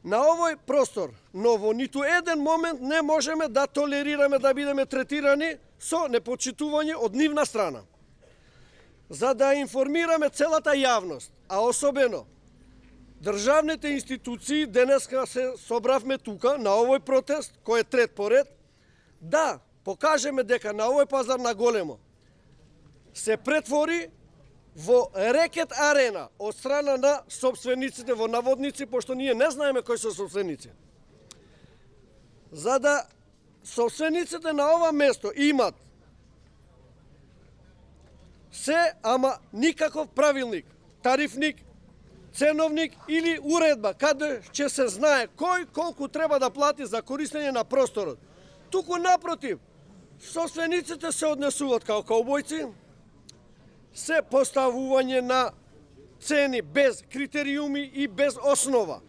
На овој простор, но во ниту еден момент не можеме да толерираме да бидеме третирани со непочитување од нивна страна. За да информираме целата јавност, а особено државните институции, денеска се собравме тука на овој протест, кој е трет поред, да покажеме дека на овој пазар на големо се претвори во рекет арена од страна на собствениците во наводници, пошто ние не знаеме кои се собственици. За да собствениците на ова место имат се, ама никаков правилник, тарифник, ценовник или уредба, каде ќе се знае кој колку треба да плати за користење на просторот. Туку напротив, собствениците се однесуваат као каубојци, се поставување на цени без критериуми и без основа.